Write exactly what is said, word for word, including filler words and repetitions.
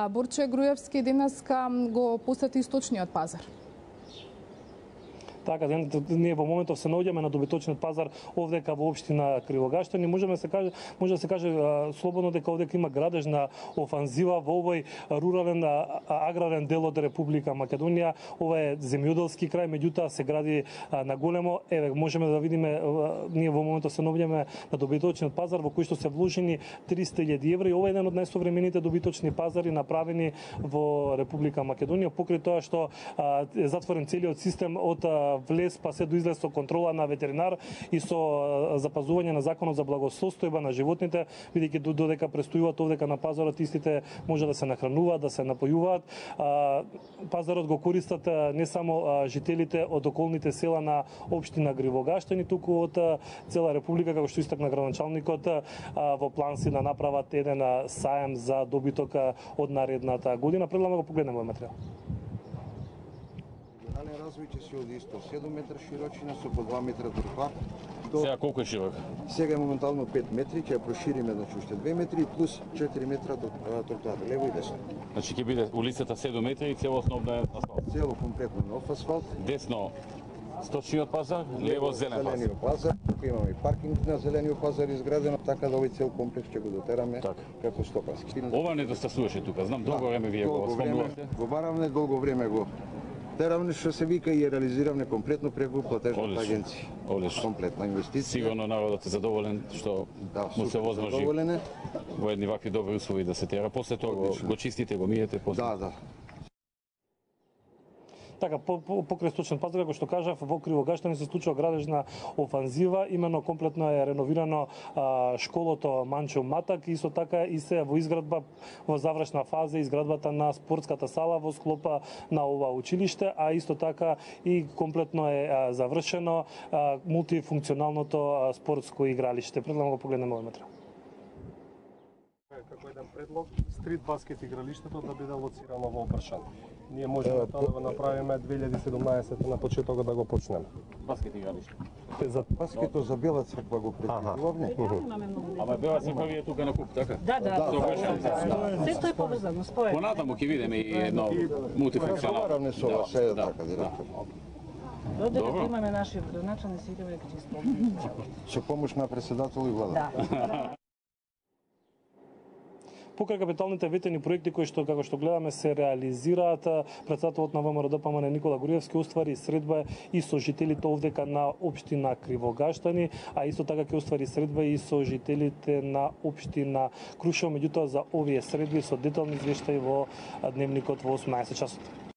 Борче Груевски денеска го посети Источниот пазар. Така, ние во моментов се наоѓаме на добиточниот пазар овдека во општина Кривогаштани. Можеме се каже, може да се каже слободно дека овдека има градежна офанзива во овој рурален аграрен дел од Република Македонија. Ова е земјоделски крај, меѓутоа се гради на големо. Еве можеме да видиме, ние во моментов се наоѓаме на добиточниот пазар во кој што се вложени триста илјади евра и ова е еден од најсовремените добиточни пазари направени во Република Македонија, покрај тоа што е затворен целиот систем од влез па се до излез со контрола на ветеринар и со запазување на законот за благосостојба на животните, бидејќи додека престојуваат овдека на пазарот, истите може да се нахрануваат, да се напојуваат. Пазарот го користат не само жителите од околните села на општина Кривогаштани, туку од цела република, како што истакна градоначалникот, во план си да направат еден саем за добиток од наредната година. Предлагам да го погледнеме овој материјал. Развој ќе се оди исто седум метра широчина со по два метра тротоар. До... Сега колку е широк? Сега е моментално пет метри, ќе ја прошириме значи уште две метри плюс четири метра до тротоар лево и десно. Значи ќе биде улицата седум метри и целосно обновен асфалт. Цело комплетно нов асфалт. Десно Сточниот пазар, лево зелен пазар. Зелениот пазар, тука имаме и паркинг на зелениот пазар изградено, така да овој цел комплекс ќе го дотераме така како стопански. Ова недостасуваше тука, знам долго да, време вие го спомнувате. Го баравме долго време го теравме што се вика и реализиравме комплетно преку платежната агенција. Одлично. Комплетна инвестиција. Сигурно народот е задоволен што да, му се возможи во едни вакви добри услови да се тера. После тоа го, го чистите, го миете после. Да, да. Така, по, по, покрај Источниот пазар, како што кажав, во Кривогаштани се случува градежна офанзива, именно комплетно е реновирано а, школото Манчо Матак, исто така и се во изградба, во завршна фаза изградбата на спортската сала во склопа на ова училиште, а исто така и комплетно е а, завршено а, мултифункционалното а, спортско игралиште. Предлагам го погледнеме овој материјал. Како еден предлог, стрит баскет игралиштето да биде лоцирано во Опршан. Ние можеме тоа да го направиме две илјади и седумнаесета на почетокот да го почнеме. Баскет игралиште. За баскетот за Бела црква го предвидувавме. Ама Бела црква ви е тука на куп, така? Да, да. Се тоа е поврзано, спојено. Понатаму ќе видиме и едно мултифункционално. Разговараме со вас, се така директор. Додека имаме наши градоначалници, се идеме дека ќе исполниме. Со помош на председател и влада. Да. Покрај капиталните ветени проекти кои што како што гледаме се реализираат, председателот на ВМРО-ДПМН Никола Груевски оствари средба и со жителите овдека на општина Кривогаштани, а исто така ќе оствари средба и со жителите на општина Крушево, меѓутоа за овие средби со детални извештаи во дневникот во осумнаесет часот.